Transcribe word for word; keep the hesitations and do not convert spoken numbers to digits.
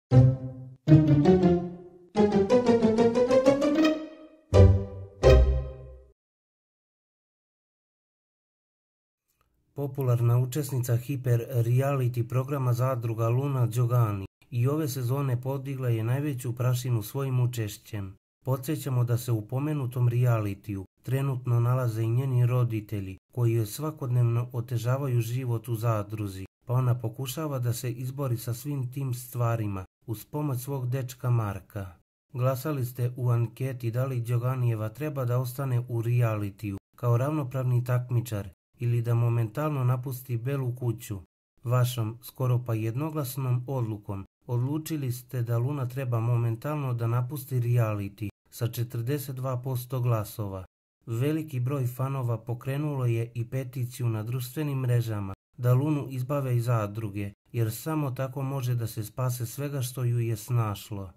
Popularna učesnica hiper reality programa Zadruga Luna Đogani i ove sezone podigla je najveću prašinu svojim učešćem. Podsjećamo da se u pomenutom realitiju trenutno nalaze i njeni roditelji koji joj svakodnevno otežavaju život u zadruzi, pa ona pokušava da se izbori sa svim tim stvarima uz pomoć svog dečka Marka. Glasali ste u anketi da li Đoganijeva treba da ostane u realitiju kao ravnopravni takmičar ili da momentalno napusti Belu kuću. Vašom, skoro pa jednoglasnom odlukom, odlučili ste da Luna treba momentalno da napusti reality sa četrdeset dva posto glasova. Veliki broj fanova pokrenulo je i peticiju na društvenim mrežama da Lunu izbave iz zadruge, jer samo tako može da se spase svega što ju je snašlo.